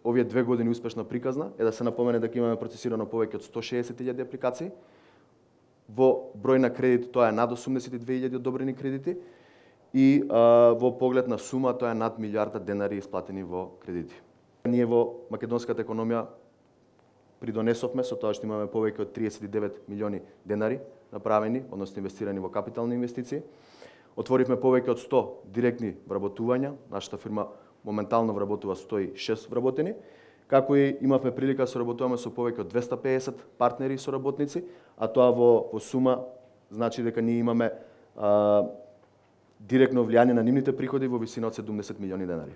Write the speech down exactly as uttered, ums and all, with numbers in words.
овие две години успешно приказна е да се напомене дека имаме процесирано повеќе од сто шеесет илјади апликации. Во број на кредити тоа е над осумдесет и две илјади одобрени кредити и а, во поглед на сума тоа е над милијарда денари исплатени во кредити. Ние во македонската економија придонесовме со тоа што имаме повеќе од триесет и девет милиони денари направени, односно инвестирани во капитални инвестиции. Отворивме повеќе од сто директни вработувања. Нашата фирма моментално вработува сто и шест вработени, како и имавме прилика да соработуваме со повеќе од двесте и педесет партнери и соработници, а тоа во, во сума значи дека ние имаме а, директно влијание на нивните приходи во висина од седумдесет милиони денари.